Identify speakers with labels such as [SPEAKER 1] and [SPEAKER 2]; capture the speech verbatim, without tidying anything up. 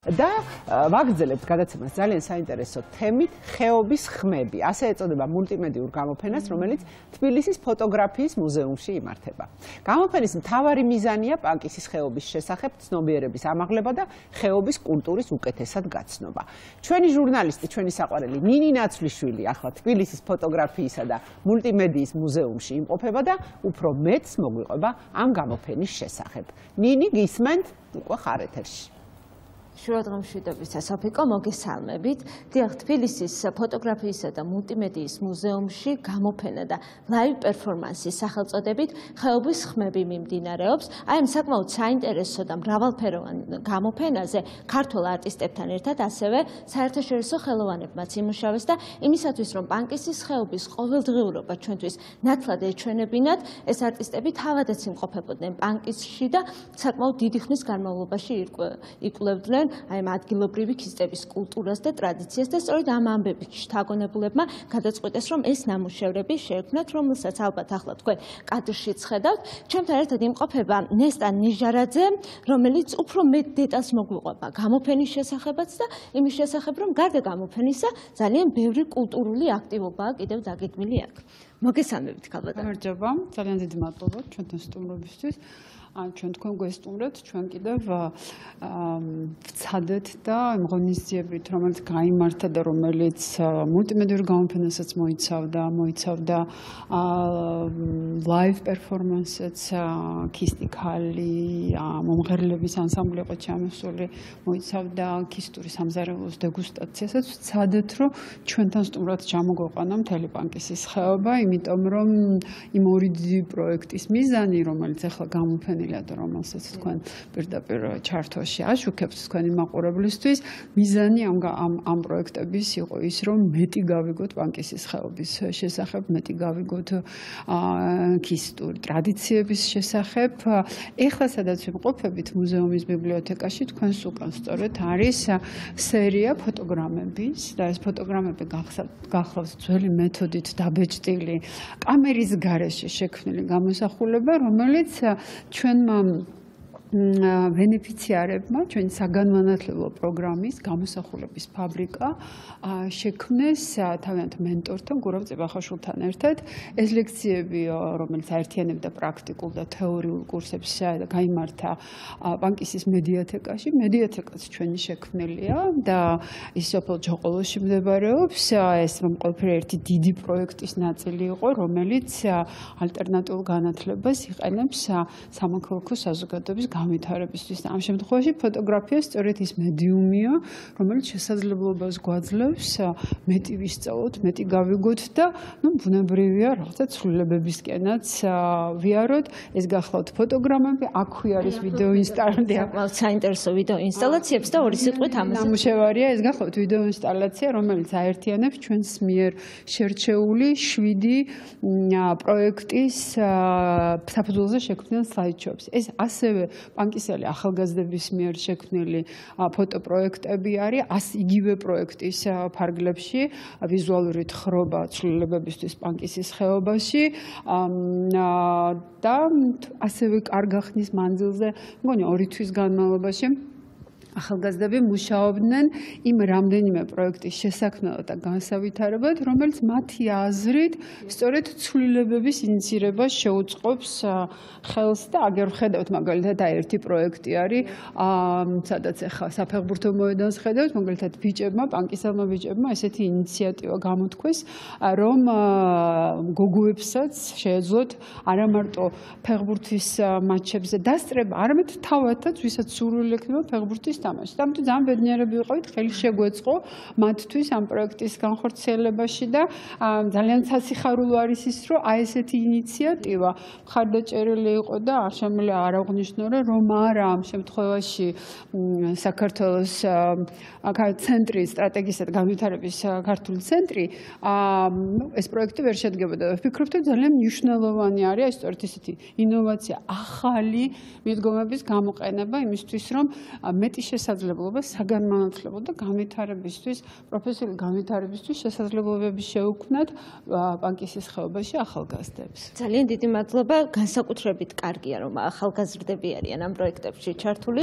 [SPEAKER 1] და ვაგრძელებთ გადაცემას ძალიან საინტერესო თემით ხეობის ხმები. ასე ეწოდება მულტიმედიურ გამოფენას, რომელიც თბილისის ფოტოგრაფიის მუზეუმში იმართება. გამოფენის მთავარი მიზანია პანკისის ხეობის შესახებ ცნობიერების ამაღლება და ხეობის კულტურის უკეთესად გაცნობა. ჩვენი ჟურნალისტი, ჩვენი საყვარელი ნინი ნაცვლიშვილი ახლა თბილისის ფოტოგრაფიისა და მულტიმედიის მუზეუმში იმყოფება და უფრო მეტს მოგვიყვება ამ გამოფენის შესახებ. ნინი, გისმენთ? უკვე ხარ ეთერში.
[SPEAKER 2] შურადღამშვიდობის საფიკო მოგესალმებით. დიახ, თბილისის ფოტოგრაფიისა და მულტიმედიის მუზეუმში გამოფენა და ლაივ პერფორმანსის სახელწოდებით ხეობის ხმები მიმდინარეობს. აი ამ საკმაოდ საინტერესო და მრავალფეროვან გამოფენაზე ქართულ არტისტებთან ერთად ასევე საერთაშორისო ხელოვანებმაც იმუშავეს და იმისათვის, რომ პანკისის ხეობის ყოველდღიურობა ჩვენთვის ნათლად ეჩვენებინათ, ეს არტისტები თავადაც იმყოფებოდნენ პანკისში და საკმაოდ დიდი ხნის განმავლობაში იკვლევდნენ აი ამ ადგილობრივი ქისტების კულტურას და ტრადიციას და სწორედ ამ ამბებით შთაგონებულებმა გადაწყვიტეს, რომ ეს ნამუშევრები შეექმნათ, რომელსაც ალბათ ახლა თქვენ კადრშიც ხედავთ. ჩვენთან ერთად იმყოფება ნესტა ნიჟარაძე, რომელიც უფრო მეტ დეტალს მოგვიყვება გამოფენის შესახებაც და იმის შესახებ, რომ გარდა გამოფენისა ძალიან ბევრი კულტურული აქტივობაა კიდევ დაგეგმილი აქ. მოგესალმებით, ქალბატონო.
[SPEAKER 3] გამარჯობა, ძალიან დიდი მადლობა ჩვენთან სტუმრობისთვის. ჩვენ თქვენ გვესტუმრეთ, ჩვენ კიდევ ვცადეთ და ღონისძიებით, რომელიც გაიმართა და რომელიც მულტიმედიურ გამოფენასაც მოიცავდა, მოიცავდა ლაივ პერფორმანსებს, ქისტი ქალი, მომღერლების ანსამბლი იყო ჩამოსული, მოიცავდა ქისტური სამზარეულოს დეგუსტაციასაც. ვცადეთ, რომ ჩვენთან სტუმრად ჩამოგვეყვანა მთელი პანკისის ხეობა, იმიტომ რომ იმ ორი დიდი პროექტის მიზანი, რომელიც ახლა გამოფენილია და რომელსაც თქვენ პირდაპირ ჩართვაში აშუქებთ თქვენი მაყურებლისთვის, მიზანი ამ ამ პროექტების იყო ის, რომ მეტი გავიგოთ პანკისის ხეობის შესახებ, მეტი გავიგოთ ქისტური ტრადიციების შესახებ. ეხლა სადაც ვიმყოფებით მუზეუმის ბიბლიოთეკაში, თქვენს უკან სწორედ არის სერია ფოტოგრამების და ეს ფოტოგრამები გახლავს ძველი მეთოდით დაბეჭდილი კამერის გარეშე შექმნილი გამოსახულება, რომელიც ჩვენ ბენეფიციარებმა, ჩვენი საგანმანათლებლო პროგრამის გამოსახულების ფაბრიკა შექმნეს თავიანთ მენტორთან, გურავ წებახაშვილთან ერთად. ეს ლექციები, რომელიც აერთიანებდა პრაქტიკულ და თეორიულ კურსებს, გაიმართა პანკისის მედიათეკაში. მედიათეკაც ჩვენი შექმნილია და ის სოფელ ჯოყოლოში მდებარეობს. ეს რომ ყველაფერი ერთი დიდი პროექტის ნაწილი იყო, რომელიც ალტერნატიულ განათლებას იყენებს სამოქალაქო საზოგადოების განვითარებისთვის. ამ შემთხვევაში ფოტოგრაფია სწორედ ის მედიუმია, რომელიც შესაძლებლობას გვაძლევს მეტი ვისწავლოთ, მეტი გავიგოთ და ნუ ბუნებრივია რაღაცა ცვლილებებისკენაც ვიაროთ. ეს გახლავთ ფოტოგრამები, აქვე არის ვიდეო ინსტალაცია.
[SPEAKER 2] საკმაოდ საინტერესო ვიდეო ინსტალაციებს და ორი სიტყვით ამაზე.
[SPEAKER 3] ნამუშევარია, ეს გახლავთ ვიდეო ინსტალაცია, რომელიც აერთიანებს ჩვენს მიერ შერჩეული შვიდი პროექტის საფუძველზე შექმნილ სლაიდშოუებს. ეს ასევე პანკისელი ახალგაზრდების მიერ შექმნილი ფოტოპროექტები არის იგივე პროექტის ფარგლებში, ვიზუალური თხრობა ცვლილებებისთვის პანკისის ხეობაში და ასევე კარგა ხნის მანძილზე, მგონი ორი თვის განმავლობაში ახალგაზრდები მუშაობდნენ იმ რამდენიმე პროექტის შესაქმნელად და განსავითარებლად, რომელიც მათი აზრით სწორედ ცვლილებების ინიციირებას შეუწყობს ხელს და აგერ ვხედავთ მაგალითად ერთი პროექტი არის, სადაც ახლა საფეხბურთო მოედანს ხედავთ, მაგალითად ბიჭებმა, პანკისელმა ბიჭებმა ესეთი ინიციატივა გამოთქვეს, რომ გოგოებსაც შეეძლოთ არა მარტო ფეხბურთის მატჩებზე დასწრება, არამედ თავადაც, ვისაც სურვილი ექნება ფეხბურთის თამაში. ამიტომ ძალიან ბედნიერები ვიყავით, ხელი შეგვეწყო მათთვის ამ პროექტის განხორციელებაში და ძალიან სასიხარულო არის ის, რომ აი ესეთი ინიციატივა მხარდაჭერილი იყო და არ შემიძლია არ აღვნიშნო, რომ არა ამ შემთხვევაში საქართველოს ცენტრი სტრატეგიისა და განვითარების ქართული ცენტრი ეს პროექტი ვერ შედგებოდა. ვფიქრობ, რომ ძალიან მნიშვნელოვანი არის სწორედ ესეთი ინოვაცია, ახალი მიდგომების გამოყენება იმისთვის, რომ მეტი შესაძლებლობა საგანმანათლებლო და განვითარებისთვის, პროფესიული განვითარებისთვის შესაძლებლობები შეუქმნათ პანკისის ხეობაში ახალგაზრდებს.
[SPEAKER 2] ძალიან დიდი მადლობა, განსაკუთრებით კარგია, რომ ახალგაზრდები არიან ამ პროექტებში ჩართული.